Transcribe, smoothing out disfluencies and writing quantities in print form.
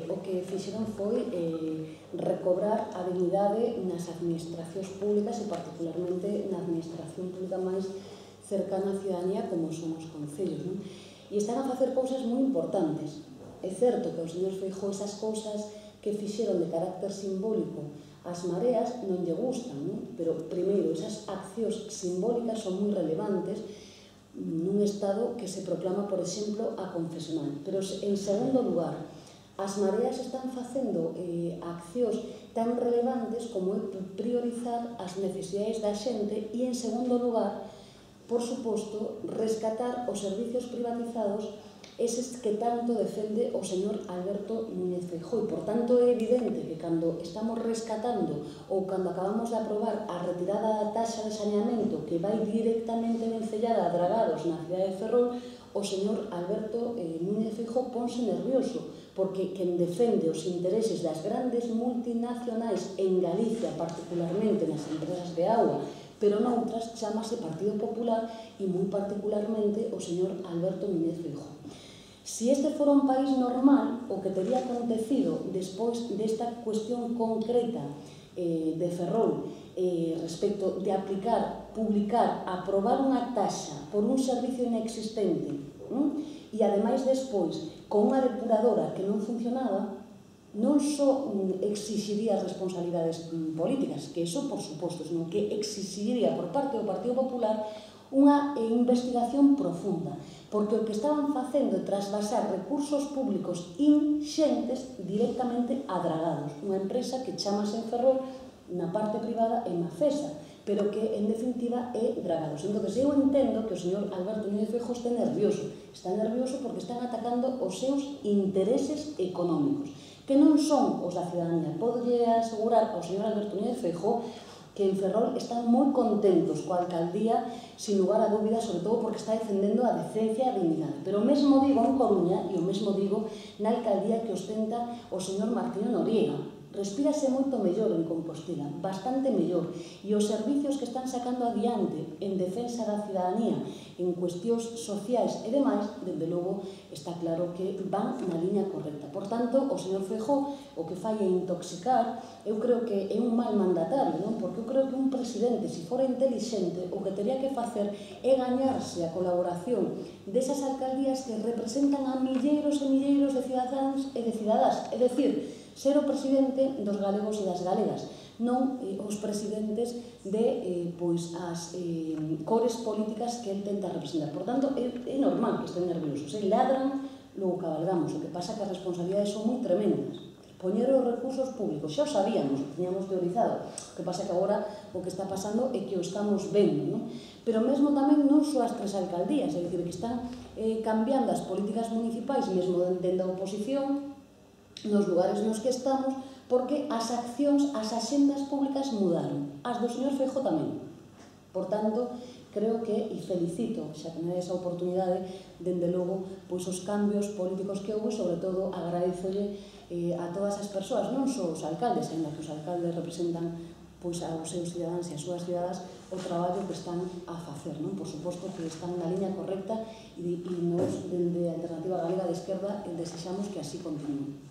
o que fixeron foi recobrar a dignidade nas administracións públicas e particularmente na administración pública máis cercana á ciudadanía como son os concellos, non? E están a facer cousas moi importantes. É certo que o señor Feijóo esas cousas que fixeron de carácter simbólico as mareas non lle gustan, non? Pero, primeiro, esas accións simbólicas son moi relevantes nun estado que se proclama, por exemplo, aconfesional. Pero, en segundo lugar, as mareas están facendo accións tan relevantes como é priorizar as necesidades da xente e, en segundo lugar, por suposto, rescatar os servicios privatizados eses que tanto defende o señor Alberto Núñez Feijóo. E, por tanto, é evidente que cando estamos rescatando ou cando acabamos de aprobar a retirada da taxa de saneamento que vai directamente vencellada a dragados na cidade de Ferrol, o señor Alberto Núñez Feijóo ponse nervioso, porque quen defende os intereses das grandes multinacionais en Galicia, particularmente nas empresas de auga, pero noutras chamase Partido Popular e moi particularmente o señor Alberto Núñez Feijóo. Se este fora un país normal, o que teria acontecido despois desta cuestión concreta de Ferrol respecto de aplicar, publicar, aprobar unha taxa por un servicio inexistente e ademais despois con unha depuradora que non funcionaba, non só exixiría responsabilidades políticas, que iso por suposto, senón que exixiría por parte do Partido Popular unha investigación profunda, porque o que estaban facendo é trasvasar recursos públicos inxentes directamente a dragados, unha empresa que chamase en Ferrol na parte privada e Mafesa, pero que en definitiva é dragados. Entón, eu entendo que o señor Alberto Núñez Feijóo está nervioso porque están atacando os seus intereses económicos, que non son os da ciudadanía. Podelle asegurar ao señor Alberto Núñez Feijóo que en Ferrol están moi contentos coa alcaldía, sin lugar a dúbidas, sobre todo porque está defendendo a decencia e a dignidade. Pero o mesmo digo en Coruña e o mesmo digo na alcaldía que ostenta o señor Martiño Noriega. Respírase moito mellor en Compostela, bastante mellor, e os servicios que están sacando adiante en defensa da ciudadanía, en cuestións sociais e demais, dende logo está claro que van na liña correcta. Por tanto, o señor Feijóo o que fai é intoxicar. Eu creo que é un mal mandatario, non? Porque eu creo que un presidente, se fora inteligente, o que teria que facer é gañarse a colaboración desas alcaldías que representan a milleiros e milleiros de cidadáns e de cidadás, é dicir, ser o presidente dos galegos e das galegas, non os presidentes de as cores políticas que el tenta representar. Por tanto, é normal que estén nerviosos. Ladran, logo cabalgamos. O que pasa é que as responsabilidades son moi tremendas. Poñer os recursos públicos, xa o sabíamos, o tiñamos teorizado. O que pasa é que agora o que está pasando é que o estamos vendo, non? Pero mesmo tamén non só as tres alcaldías, é dicir, que están cambiando as políticas municipais, mesmo dende a oposición, nos lugares nos que estamos, porque as accións, as axendas públicas mudaron. As do señor Feijóo tamén. Por tanto, creo que, e felicito, xa que me dá esa oportunidade, dende logo, pois os cambios políticos que houve, sobre todo, agradezolle a todas as persoas, non só os alcaldes, ainda que os alcaldes representan pois aos seus cidadáns e as súas cidadas, o traballo que están a facer, non? Por suposto que están na liña correcta e nos, dende a Alternativa Galega de Esquerda, desexamos que así continúen.